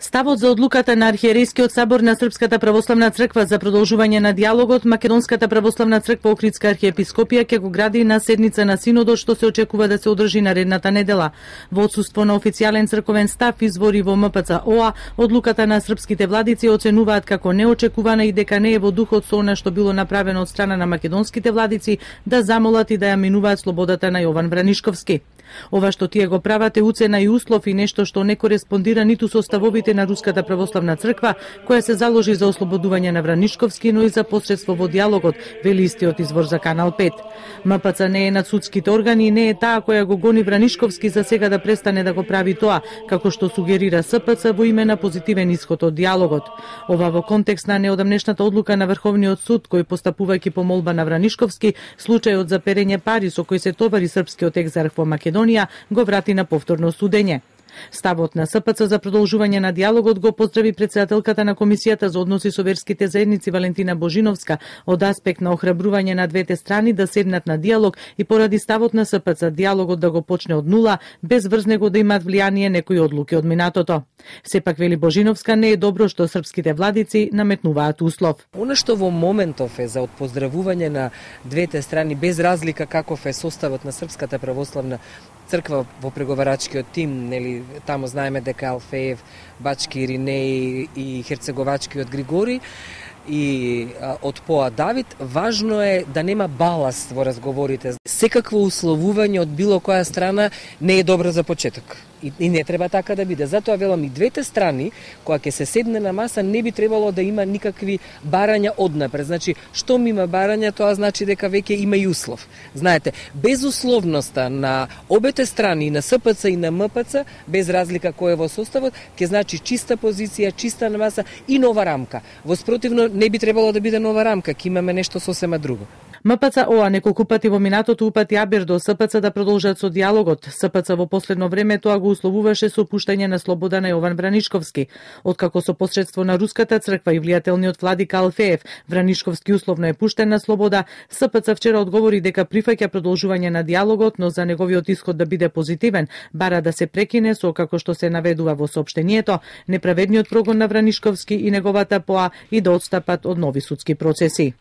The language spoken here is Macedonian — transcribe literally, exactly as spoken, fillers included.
Ставот за одлуката на Архиерейскиот собор на Српската православна црква за продолжување на диалогот, Македонската православна црква Охридска архиепископија ќе го гради на седница на синодот што се очекува да се одржи наредната недела. Во отсуство на официјален црковен став, извори во М П Ц О А, одлуката на српските владици оценуваат како неочекувана и дека не е во духот со она што било направено од страна на македонските владици да замолат и да ја минуваат слободата на Јован Вранишковски. Ова што тие го прават е уцена и услов и нешто што не кореспондира ниту со ставовите на Руската православна црква, која се заложи за ослободување на Вранишковски, но и за посредство во диалогот, вели истиот извор за Канал пет. М П Ц не е над судските органи и не е таа која го гони Вранишковски за сега да престане да го прави тоа, како што сугерира С П Ц во име на позитивен исход од диалогот. Ова во контекст на неодамнешната одлука на Врховниот суд, кој постапувајќи по молба на Вранишковски, случајот за перење пари со кој се товари српскиот екзарх во Македонија, го врати на повторно судење. Ставот на С П Ц за продолжување на диалогот го поздрави претседателката на Комисијата за односи со верските заедници Валентина Божиновска од аспект на охрабрување на двете страни да седнат на диалог и поради ставот на С П Ц диалогот да го почне од нула, без врз него да имаат влијание некои одлуки од минатото. Сепак, вели Божиновска, не е добро што српските владици наметнуваат услов. Она што во моментов е за отпоздравување на двете страни, без разлика каков е составот на Српската православна црква во преговарачкиот тим, нели, таму знаеме дека Алфеев, Бачки Иринеј и Херцеговачкиот Григори и а, од По А Давид, важно е да нема баласт во разговорите. Секакво условување од било која страна не е добро за почеток. И, и не треба така да биде. Затоа велам и двете страни, кога ќе се седне на маса, не би требало да има никакви барања однапред. Значи, штом има барања, тоа значи дека веќе има и услов. Знаете, безусловноста на обете страни, на С П Ц и на М П Ц, без разлика кој е во составот, ќе значи чиста позиција, чиста на маса и нова рамка. Во спротивно, не би требало да биде нова рамка, ќе имаме нешто сосема друго. М П Ц О А неколку пати во минатото упати Абир до С П Ц да продолжат со диалогот. С П Ц во последно време тоа го условуваше со пуштање на слобода на Јован Вранишковски. Откако со посредство на Руската црква и влијателниот владика Алфеев, Вранишковски условно е пуштен на слобода, С П Ц вчера одговори дека прифаќа продолжување на диалогот, но за неговиот исход да биде позитивен, бара да се прекине со, како што се наведува во соопштението, неправедниот прогон на Вранишковски и неговата По А и да отстапат од нови судски процеси.